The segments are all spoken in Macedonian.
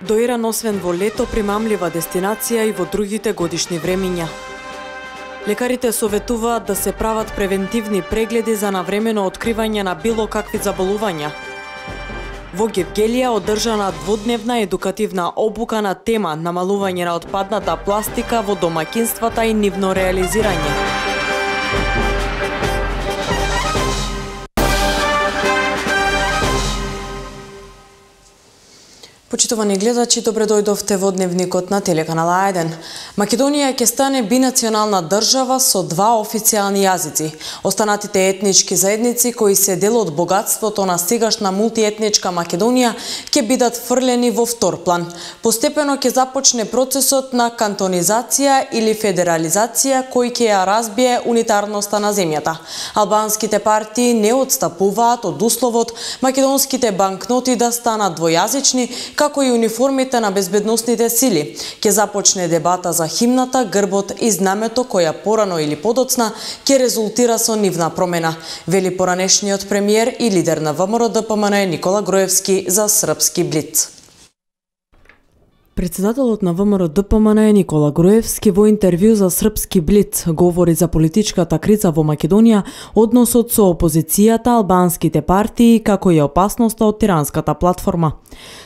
До Иран освен во лето примамлива дестинација и во другите годишни времиња. Лекарите советуваат да се прават превентивни прегледи за навремено откривање на било какви заболувања. Во Гевгелија одржана дводневна едукативна обука на тема намалување на отпадната пластика во домаќинствата и нивно реализирање. Почитувани гледачи, добре дојдовте во дневникот на телеканал А1. Македонија ќе стане бинационална држава со два официјални јазици. Останатите етнички заедници кои се дел од богатството на сегашна мултиетничка Македонија ќе бидат фрлени во втор план. Постепено ќе започне процесот на кантонизација или федерализација кој ќе ја разбие унитарноста на земјата. Албанските партии не отстапуваат од условот македонските банкноти да станат двојазични, како и униформите на безбедносните сили. Ќе започне дебата за химната, грбот и знамето која порано или подоцна ќе резултира со нивна промена, вели поранешниот премиер и лидер на ВМРО-ДПМН Никола Груевски за Српски Блиц. Председателот на ВМРО-ДПМН Никола Груевски во интервју за Српски Блиц говори за политичката криза во Македонија, односот со опозицијата, албанските партии, како и опасноста од тиранската платформа.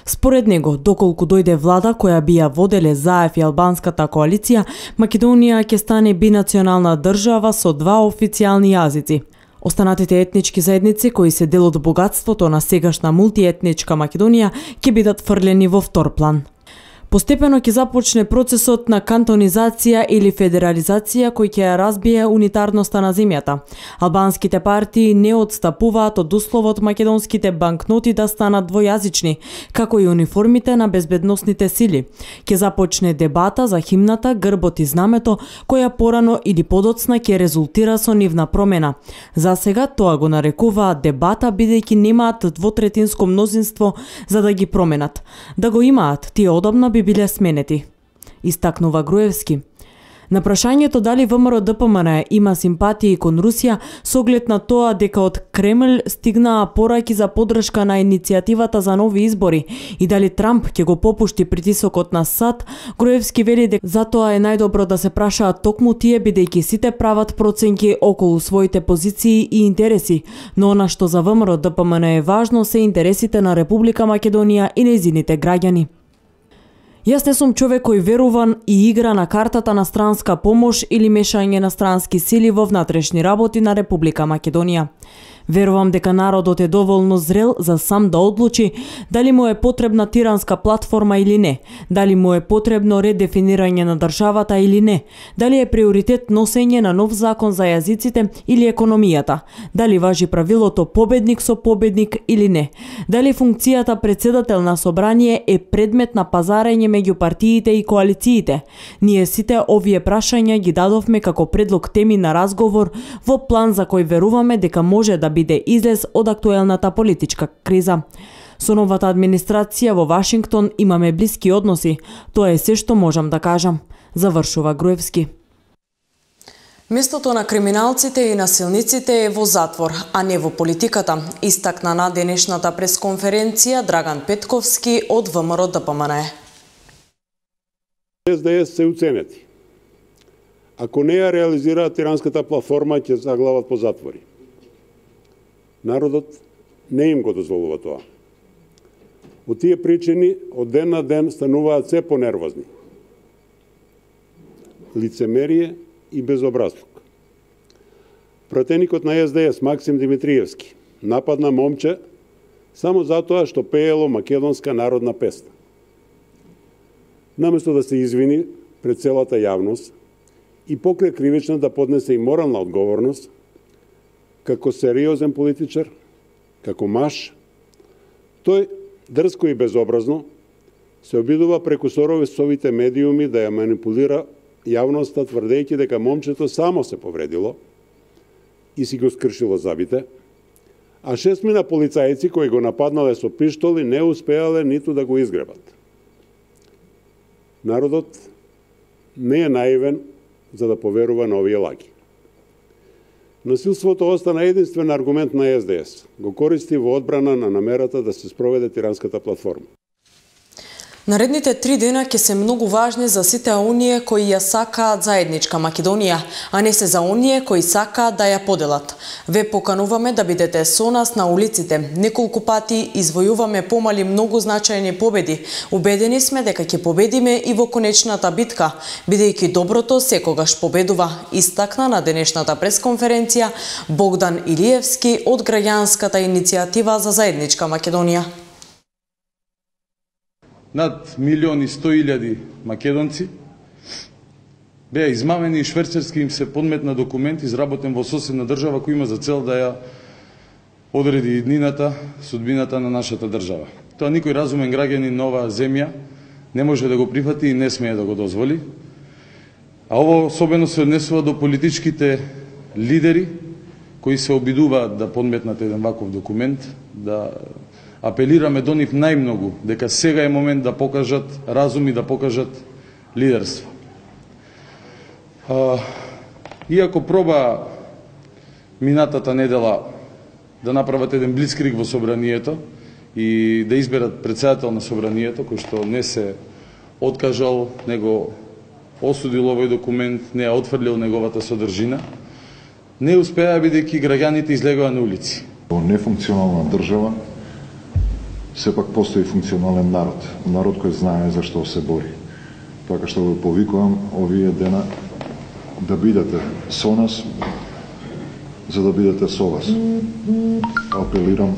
Според него, доколку дојде влада која би ја воделе ЗАЕФ и албанската коалиција, Македонија ќе стане бинационална држава со два официјални јазици. Останатите етнички заедници кои се дел од богатството на сегашна мултиетничка Македонија ќе бидат фрлени во втор план. Постепено ќе започне процесот на кантонизација или федерализација кој ќе ја разбие унитарноста на земјата. Албанските партии не отстапуваат од условот македонските банкноти да станат двојазични, како и униформите на безбедносните сили. Ќе започне дебата за химната, грбот и знамето, која порано или подоцна ќе резултира со нивна промена. За сега тоа го нарекуваат дебата бидејќи немаат двотретинско мнозинство за да ги променат. Да го имаат, тие одамна би биле сменети, истакнува Груевски. На прашањето дали ВМРО-ДПМН има симпатии кон Русија со оглед на тоа дека од Кремљ стигнаа пораки за поддршка на иницијативата за нови избори и дали Трамп ќе го попушти притисокот на САД, Груевски вели дека затоа е најдобро да се прашаат токму тие бидејќи сите прават проценки околу своите позиции и интереси, но она што за ВМРО-ДПМН е важно се интересите на Република Македонија и нејзините граѓани. Јас не сум човек кој веруван и игра на картата на странска помош или мешање на странски сили во внатрешни работи на Република Македонија. Верувам дека народот е доволно зрел за сам да одлучи дали му е потребна тиранска платформа или не, дали му е потребно редефинирање на државата или не, дали е приоритет носење на нов закон за јазиците или економијата, дали важи правилото победник со победник или не, дали функцијата председател на собрание е предмет на пазарење меѓу партиите и коалициите. Ние сите овие прашања ги дадовме како предлог теми на разговор во план за кој веруваме дека може да биде излез од актуелната политичка криза. Со новата администрација во Вашингтон имаме блиски односи. Тоа е се што можам да кажам, завршува Груевски. Местото на криминалците и насилниците е во затвор, а не во политиката, истакна на денешната пресконференција Драган Петковски од ВМРО-ДПМН. СДС се уценети. Ако не ја реализираат тиранската платформа, ќе заглават по затвори. Народот не им го дозволува тоа. Од тие причини, од ден на ден стануваат се понервозни. Лицемерие и безобразлук. Пратеникот на СДС Максим Димитриевски нападна момче само затоа што пеело македонска народна песна. Наместо да се извини пред целата јавност и покрај кривична да поднесе и морална одговорност, како сериозен политичар, како маж, тој дрско и безобразно се обидува преку совите медиуми да ја манипулира јавноста, тврдејќи дека момчето само се повредило и си го скршило забите, а 6 полицајци кои го нападнале со пиштоли не успеале ниту да го изгребат. Народот не е наивен за да поверува на овие лаги. Насилството остана единствен аргумент на СДС. Го користи во одбрана на намерата да се спроведе тиранската платформа. Наредните 3 дена ќе се многу важни за сите оние кои ја сакаат заедничка Македонија, а не се за оние кои сакаат да ја поделат. Ве покануваме да бидете со нас на улиците. Неколку пати извојуваме помали многу значајни победи. Убедени сме дека ќе победиме и во конечната битка, бидејќи доброто секогаш победува, истакна на денешната пресконференција Богдан Илиевски од граѓанската иницијатива за заедничка Македонија. Над 1.100.000 македонци беа измамени и шверцерски им се подметна документ изработен во соседна држава кој има за цел да ја одреди иднината, судбината на нашата држава. Тоа никој разумен граѓанин на оваа земја не може да го прифати и не смее да го дозволи. А ово особено се однесува до политичките лидери кои се обидуваат да подметнат еден ваков документ, да апелираме до нив најмногу дека сега е момент да покажат разум и да покажат лидерство. Иако проба минатата недела да направат еден блицкриг во собранието и да изберат председател на собранието, кој што не се откажал, него осудил овој документ, не ја отфрлил неговата содржина, не успеа бидејќи граѓаните излегоа на улици. Во нефункционална држава сепак постои функционален народ. Народ кој знае за што се бори. Така што го повикувам овие дена да бидете со нас, за да бидете со вас. Апелирам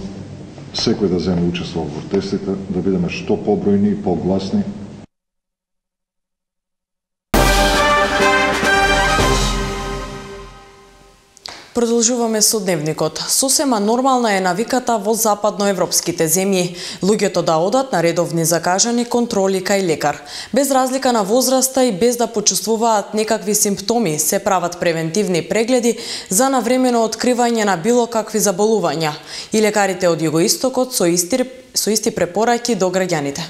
секој да земе учество во протестите, да бидеме што побројни и погласни. Продолжуваме со дневникот. Сосема нормална е навиката во западноевропските земји луѓето да одат на редовни закажани контроли кај лекар. Без разлика на возраста и без да почувствуваат некакви симптоми, се прават превентивни прегледи за навремено откривање на било какви заболувања. И лекарите од Југоистокот со исти препораки до граѓаните.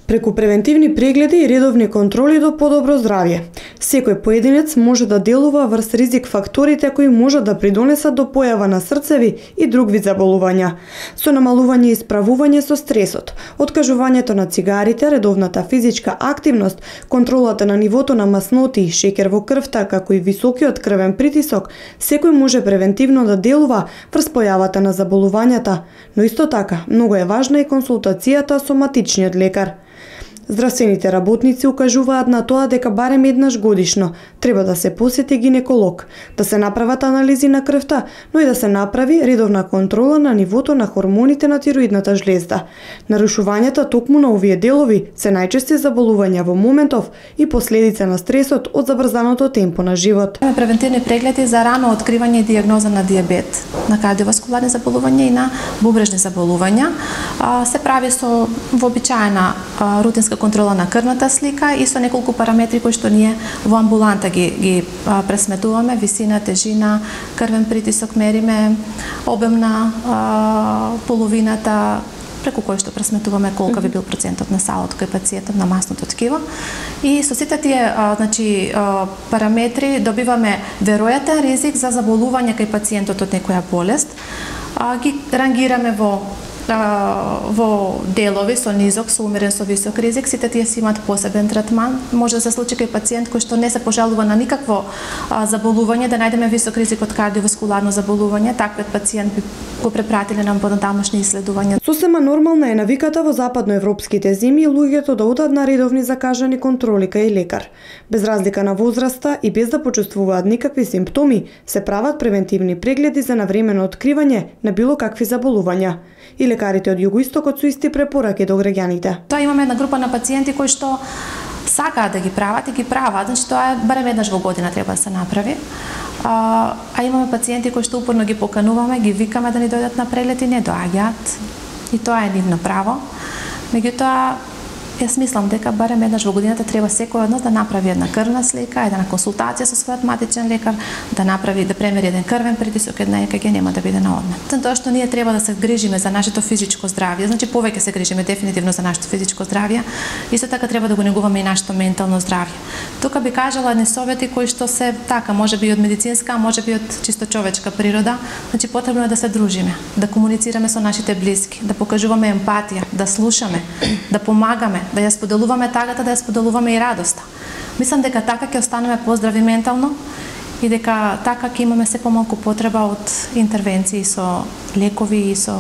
Преку превентивни прегледи и редовни контроли до подобро здравје. Секој поединец може да делува врз ризик факторите кои можат да придонесат до појава на срцеви и друг вид заболувања. Со намалување и справување со стресот, откажувањето на цигарите, редовната физичка активност, контролата на нивото на масноти и шеќер во крвта, како и високиот крвен притисок, секој може превентивно да делува врз појавата на заболувањата, но исто така многу е важна и консултацијата со матичниот лекар. Здравствените работници укажуваат на тоа дека барем еднаш годишно треба да се посети гинеколог, да се направат анализи на крвта, но и да се направи редовна контрола на нивото на хормоните на тироидната жлезда. Нарушувањата токму на овие делови се најчести заболувања во моментов и последица на стресот од забрзаното темпо на живот. Превентивни прегледи за рано откривање и дијагноза на дијабет, на кардиоваскуларни заболувања и на бубрежни заболувања. Се прави со вообичаена рутинска контрола на крвната слика и со неколку параметри кои што ние во амбуланта ги пресметуваме: висина, тежина, крвен притисок мериме, обем на половината, преку кој што пресметуваме колка би бил процентот на салото кај пациентот, на масното ткиво. И со сите тие параметри добиваме веројатен ризик за заболување кај пациентот од некоја болест. Ги рангираме во делови со низок, со умерен, со висок ризик. Сите тие си имаат посебен третман. Може да се случи кај пациент кој што не се пожалува на никакво заболување, да најдеме висок ризик од кардиоваскуларно заболување. Таквиот пациент би го препратиле на понатамошни исследувања. Сосема нормална е навиката во западноевропските земји луѓето да одат на редовни закажани контроли кај лекар. Без разлика на возраста и без да почувствуваат никакви симптоми, се прават превентивни прегледи за навремено откривање на било какви заболувања. И лекарите од Југоистокот со исти препораки до граѓаните. Тоа имаме една група на пациенти кои што сакаат да ги прават и ги прават, значи тоа е барем еднаш во година треба да се направи. А имаме пациенти кои што упорно ги покануваме, ги викаме да ни дојдат на преглед и не доаѓаат. И тоа е нивно право. Меѓутоа, Јас мислам дека барем еднаш во годината треба секој од нас да направи една крвна слика, една консултација со својот матичен лекар, да премери еден крвен притисок, една ЕКГ, нема да биде на одмор. Тоа што ние треба да се грижиме за нашето физичко здравје, значи повеќе се грижиме дефинитивно за нашето физичко здравје, исто така треба да го негуваме и нашето ментално здравје. Тука би кажала едни совети кои што се така, можеби од медицинска, можеби од чисто човечка природа, значи потребно е да се дружиме, да комуницираме со нашите блиски, да покажуваме емпатија, да слушаме, да помагаме, да ја споделуваме тагата, да ја споделуваме и радоста. Мислам дека така ќе останеме поздрави ментално и дека така ќе имаме се помалку потреба од интервенции со лекови и со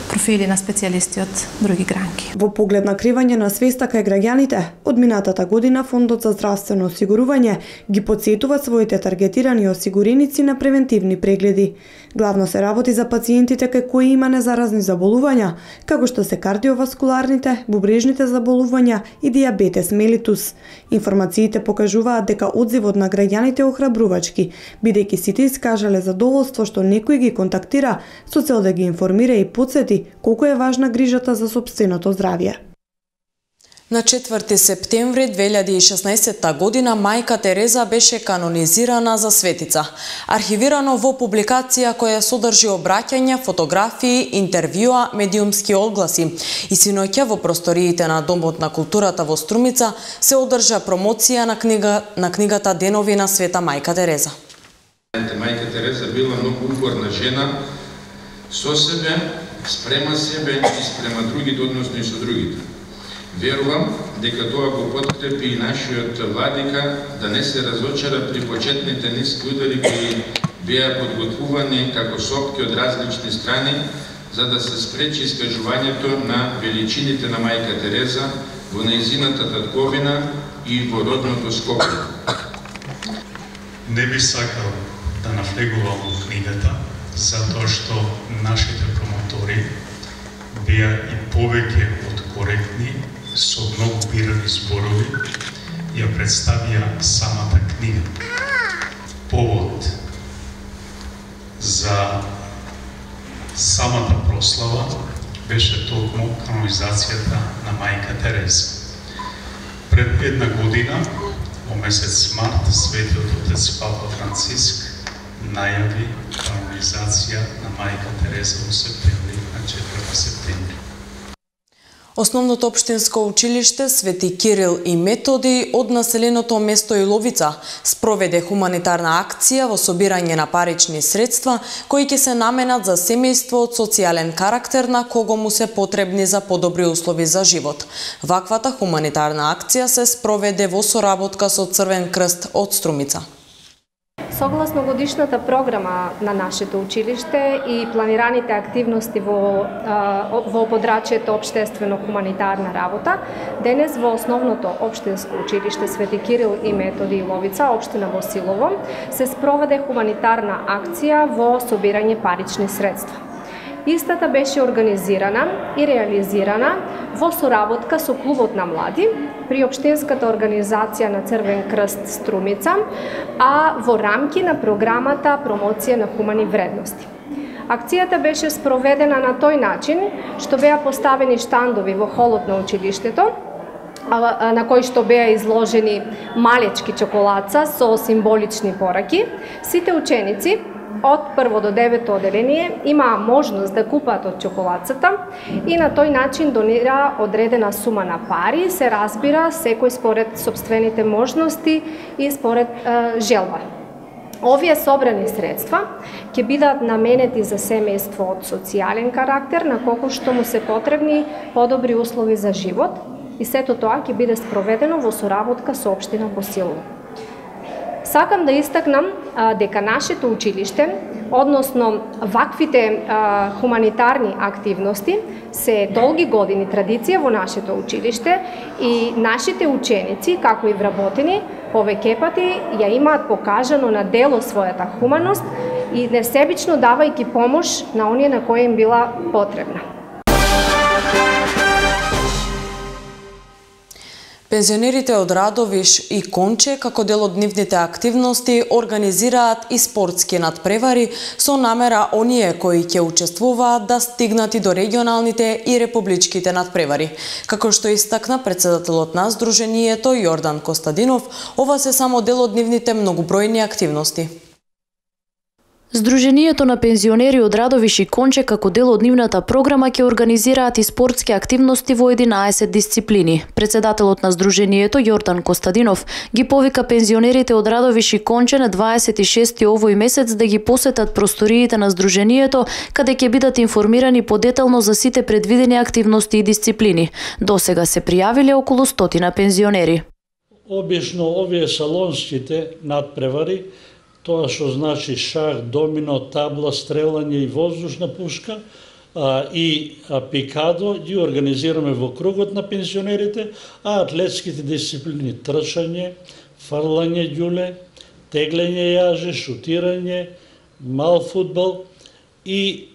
профили на специјалисти од други гранки. Во поглед на кривање на свеста кај граѓаните, од минатата година Фондот за здравствено осигурување ги потсетува своите таргетирани осигуреници на превентивни прегледи. Главно се работи за пациентите кај кои има незаразни заболувања, како што се кардиоваскуларните, бубрежните заболувања и дијабетес мелитус. Информациите покажуваат дека одзивот на граѓаните е охрабрувачки, бидејќи сите искажале задоволство што некој ги контактира со цел да ги информира и потсети колку е важна грижата за сопственото здравје. На 4 септември 2016 година мајка Тереза беше канонизирана за светица. Архивирано во публикација која содржи обраќања, фотографии, интервјуа, медиумски одгласи. И синоќа во просториите на Домот на културата во Струмица се одржа промоција на книгата Денови на Света мајка Тереза. Мајка Тереза била многу упорна жена, со себе, спрема себе и спрема другите, односно и со другите. Верувам дека тоа го подкрепи и нашиот владика да не се разочара при почетните ниски удари кои беа подготвувани како сопки од различни страни за да се спречи искажувањето на величините на мајка Тереза во нејзината татковина и во родното Скопје. Не би сакал да навлегувам во книгата, затоа што нашите промотори беа и повеќе од коректни, со многу бирани зборови, ја представија самата книга. Повод за самата прослава беше токму канонизацијата на мајка Тереза. Пред една година, во месец март, светиот отец Папа Франциск најави канонизација на мајка Тереза во септември, на 4 септември. Основното општинско училиште Свети Кирил и Методи од населеното место Иловица спроведе хуманитарна акција во собирање на парични средства кои ќе се наменат за семејство од социјален карактер на кого му се потребни за подобри услови за живот. Ваквата хуманитарна акција се спроведе во соработка со Црвен крст од Струмица. Согласно годишната програма на нашето училиште и планираните активности во подрачјето општествено-хуманитарна работа, денес во основното општинско училиште Свети Кирил и Методи Иловица, општина Босилово, се спроведе хуманитарна акција во собирање парични средства. Истата беше организирана и реализирана во соработка со Клубот на млади при општинската организација на Црвен крст Струмица, а во рамки на програмата Промоција на хумани вредности. Акцијата беше спроведена на тој начин што беа поставени штандови во холот на училиштето, на кои што беа изложени малечки чоколаца со символични пораки. Сите ученици од 1 до 9 оделение имаа можност да купат од чоколацата и на тој начин донира одредена сума на пари, се разбира секој според сопствените можности и според желба. Овие собрани средства ќе бидат наменети за семејство од социјален карактер на колку што му се потребни подобри услови за живот и сето тоа ќе биде спроведено во соработка со општина Босилово. Сакам да истакнам дека нашето училиште, односно ваквите хуманитарни активности, се долги години традиција во нашето училиште и нашите ученици, како и вработени, повеќе пати ја имаат покажано на дело својата хуманост и несебично давајќи помош на оние на кои им била потребна. Пензионерите од Радовиш и Конче, како дел од нивните активности, организираат и спортски надпревари со намера оние кои ќе учествуваат да стигнат и до регионалните и републичките надпревари. Како што истакна председателот на Сдруженијето Јордан Костадинов, ова се само дел од нивните многобројни активности. Сдруженијето на пензионери од Радовиш и Конче како дел од нивната програма ќе организираат и спортски активности во 11 дисциплини. Председателот на Сдруженијето Јордан Костадинов ги повика пензионерите од Радовиш и Конче на 26 овој месец да ги посетат просториите на Сдруженијето, каде ќе бидат информирани подетално за сите предвидени активности и дисциплини. Досега се пријавиле околу 100 пензионери. Обично овие салонските надпревари, тоа што значи шах, домино, табла, стрелање и воздушна пушка и пикадо, ги организираме во кругот на пензионерите, а атлетските дисциплини трчање, фрлање ѓуле, теглење јаже, шутирање, мал фудбал и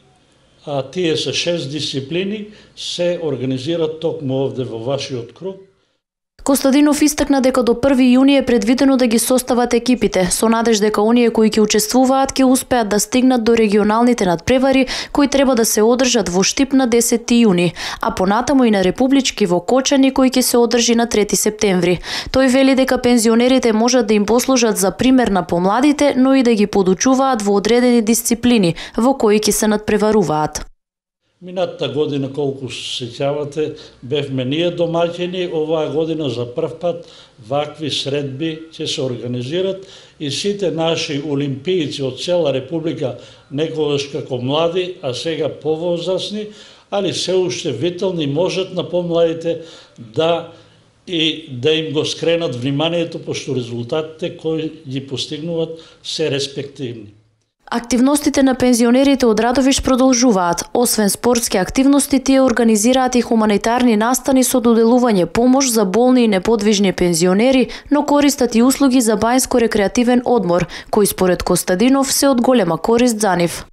тие се 6 дисциплини се организираат токму овде во вашиот круг. Костадинов истакна дека до 1 јуни е предвидено да ги состават екипите, со надеж дека оние кои ќе учествуваат ќе успеат да стигнат до регионалните надпревари кои треба да се одржат во Штип на 10 јуни, а понатаму и на републички во Кочани кој ќе се одржи на 3 септември. Тој вели дека пензионерите можат да им послужат за пример на помладите, но и да ги подучуваат во одредени дисциплини во кои ќе се надпреваруваат. Минатата година, колку се сеќавате, бевме ние домаќини, оваа година за прв пат вакви средби ќе се организират и сите наши олимпијци од цела Република, некогаш како млади, а сега повозрасни, али се уште витални, можат на помладите да им го скренат вниманието, пошто резултатите кои ги постигнуваат се респективни. Активностите на пензионерите од Радовиш продолжуваат. Освен спортски активности, тие организираат и хуманитарни настани со доделување помош за болни и неподвижни пензионери, но користат и услуги за бајско-рекреативен одмор, кој според Костадинов се од голема корист за нив.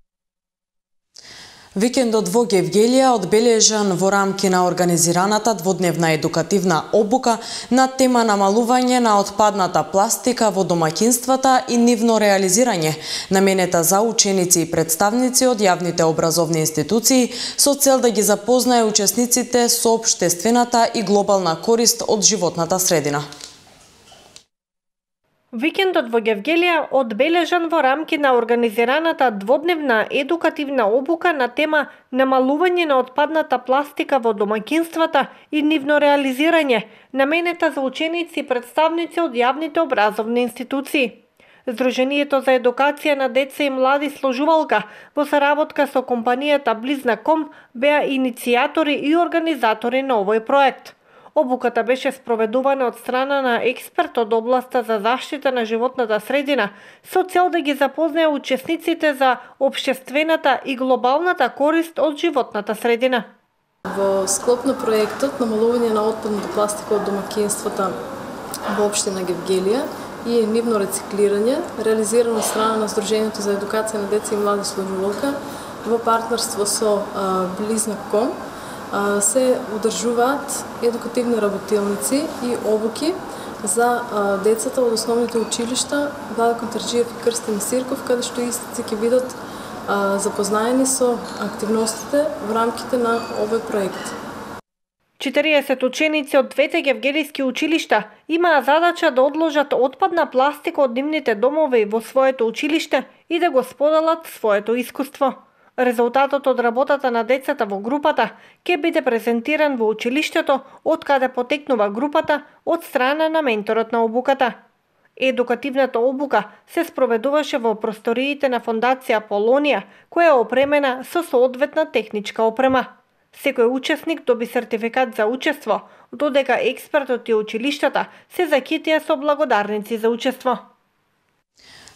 Викендот во Гевгелија одбележан во рамки на организираната дводневна едукативна обука на тема намалување на отпадната пластика во домаќинствата и нивно реализирање, наменета за ученици и представници од јавните образовни институции со цел да ги запознае учесниците со општествената и глобална корист од животната средина. Викендот во Гевгелија одбележан во рамки на организираната дводневна едукативна обука на тема намалување на отпадната пластика во домаќинствата и нивно реализирање, наменета за ученици и представници од јавните образовни институции. Сдруженијето за едукација на деца и млади сложувалка во соработка со компанијата Близнаком беа иницијатори и организатори на овој проект. Обуката беше спроведувана од страна на експерт од областа за заштита на животната средина со цел да ги запознае учесниците за општествената и глобалната корист од животната средина. Во склоп на проектот намалување на отпадната пластика од домаќинствата во општина Гевгелија и нивно рециклирање, реализирано од страна на Сдруженијето за едукација на деца и млади сложувалка во партнерство со Близнаком, се одржуваат едукативни работилници и обуки за децата од основните училишта Владо Контарџиев и Крстин Сирков, каде што истите ќе бидат запознаени со активностите во рамките на овој проект. 40 ученици од двете гевгелијски училишта имаа задача да одложат отпадна пластика од нивните домови во своето училиште и да го споделат своето искуство. Резултатот од работата на децата во групата ќе биде презентиран во училиштето, од каде потекнува групата од страна на менторот на обуката. Едукативната обука се спроведуваше во просториите на Фондација Полонија, која е опремена со соодветна техничка опрема. Секој учесник доби сертификат за учество, додека експертот и училиштата се закитија со благодарници за учество.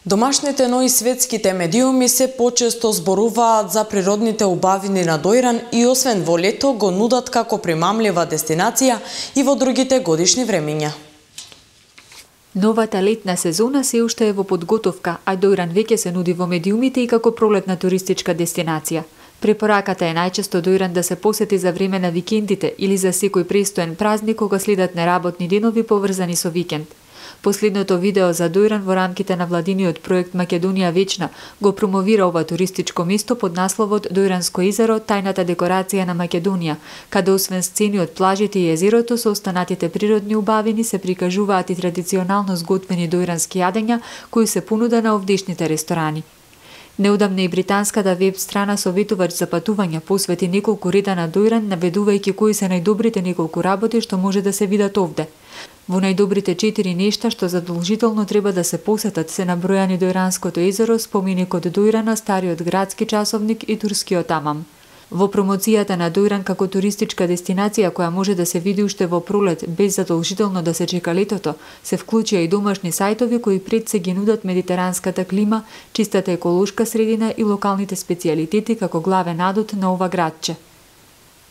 Домашните, но и светските медиуми се почесто зборуваат за природните убавини на Дојран и освен во лето го нудат како примамлива дестинација и во другите годишни времиња. Новата летна сезона се уште е во подготовка, а Дојран веќе се нуди во медиумите и како пролетна туристичка дестинација. Препораката е најчесто Дујран да се посети за време на викендите или за секој престоен празник кога следат неработни денови поврзани со викенд. Последното видео за Дујран во рамките на владиниот проект Македонија вечна го промовира ова туристичко место под насловот Дујранско езеро, тајната декорација на Македонија, каде освен сцени од плажите и езерото со останатите природни убавини се прикажуваат и традиционално сготвени дујрански јадења кои се понуда на овдешните ресторани. Неодамна и британската веб страна советувач за патување посвети неколку реда на Дујран, наведувајќи кои се најдобрите неколку работи што може да се видат овде. Во најдобрите 4 нешта што задолжително треба да се посетат се набројани Дујранското езеро, споменикот Дујрана, стариот градски часовник и турскиот амам. Во промоцијата на Дујран како туристичка дестинација која може да се види уште во пролет без задолжително да се чека летото, се вклучија и домашни сајтови кои пред се ги нудат медитеранската клима, чистата еколошка средина и локалните специјалитети како главен адут на ова градче.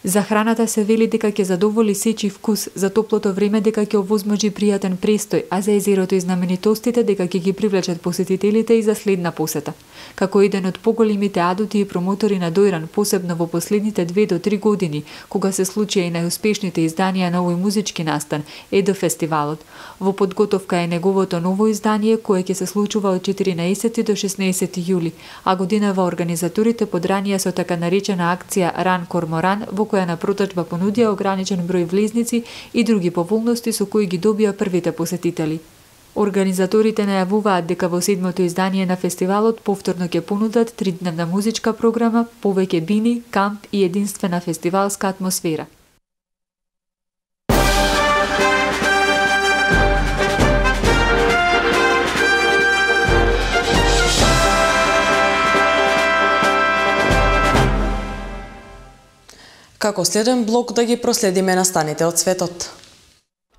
За храната се вели дека ќе задоволи сечи вкус, за топлото време дека ќе овозможи пријатен престој, а за езерото и знаменитостите дека ќе ги привлечат посетителите и за следна посета. Како еден од поголемите адути и промотори на Дујран, посебно во последните 2 до 3 години, кога се случија и најуспешните изданија на овој музички настан, Едо фестивалот. Во подготовка е неговото ново издание кое ќе се случува од 14 до 16 јули, а годинава организаторите подранија со така наречена акција Ран Корморан, во која на проточба понудија ограничен број влезници и други поволности со кои ги добија првите посетители. Организаторите најавуваат дека во 7-то издание на фестивалот повторно ќе понудат 3-дневна музичка програма, повеќе бини, камп и единствена фестивалска атмосфера. Како следен блок да ги проследиме настаните од светот.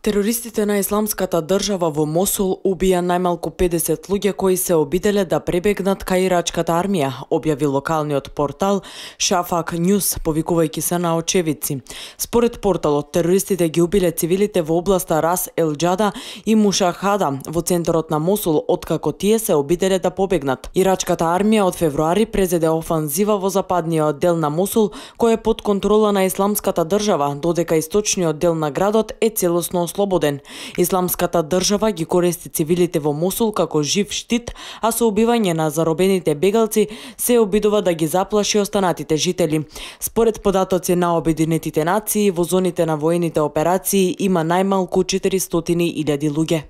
Терористите на Исламската држава во Мосул убија најмалку 50 луѓе кои се обиделе да пребегнат кај ирачката армија, објави локалниот портал Шафак Ньюс, повикувајќи се на очевидци. Според порталот, терористите ги убиле цивилите во областа Рас Ел Џада и Мушахада во центарот на Мосул, откако тие се обиделе да побегнат. Ирачката армија од февруари презеде офанзива во западниот дел на Мосул, кој е под контрола на Исламската држава, додека источниот дел на градот е целосно слободен. Исламската држава ги користи цивилите во Мосул како жив штит, а со убивање на заробените бегалци се обидува да ги заплаши останатите жители. Според податоци на Обединетите нации, во зоните на воените операции има најмалку 400.000 луѓе.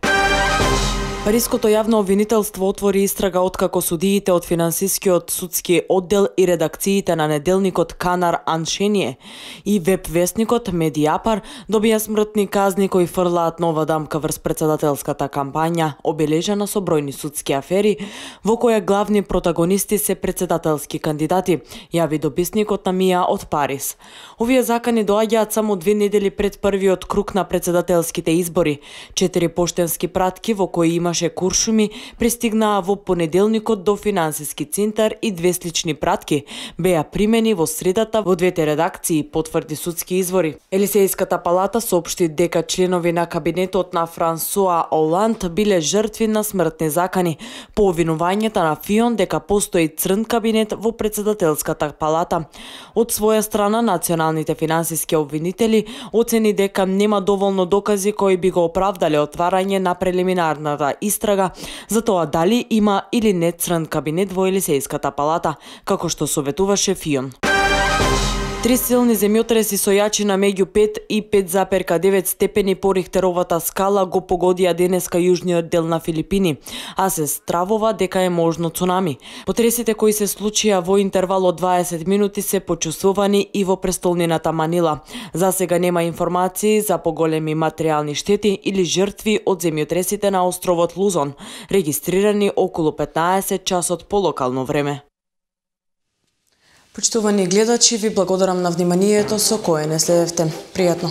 Париското јавно обвинителство отвори истрага откако судиите од финансискиот судски оддел и редакциите на неделникот Канар Аншение и веб-весникот Медиапар добија смртни казни кои фрлаат нова дамка врз председателската кампања, обележана со бројни судски афери, во која главни протагонисти се председателски кандидати, јави дописникот на Мија од Париз. Овие закани доаѓаат само 2 недели пред првиот круг на председателските избори. 4 поштенски пратки во кои имаше куршуми пристигнаа во понеделникот до финансиски центар и 2 слични пратки беа примени во средата во 2 редакции, потврди судски извори. Елисејската палата соопшти дека членови на кабинетот на Франсуа Оланд биле жртви на смртни закани по обвинувањата на Фион дека постои црн кабинет во председателската палата. Од своја страна, националните финансиски обвинители оцени дека нема доволно докази кои би го оправдале отварање на прелиминарната истрага за тоа дали има или не црн кабинет во Елисејската палата, како што советуваше Фион. 3 силни земјотреси со јачина меѓу 5 и 5,9 степени по Рихтеровата скала го погодија денеска јужниот дел на Филипини, а се стравува дека е можно цунами. Потресите кои се случија во интервал од 20 минути се почувствувани и во престолнината Манила. За сега нема информации за поголеми материјални штети или жртви од земјотресите на островот Лузон, регистрирани околу 15 часот по локално време. Почитувани гледачи, ви благодарам на вниманието со кое не следевте. Пријатно!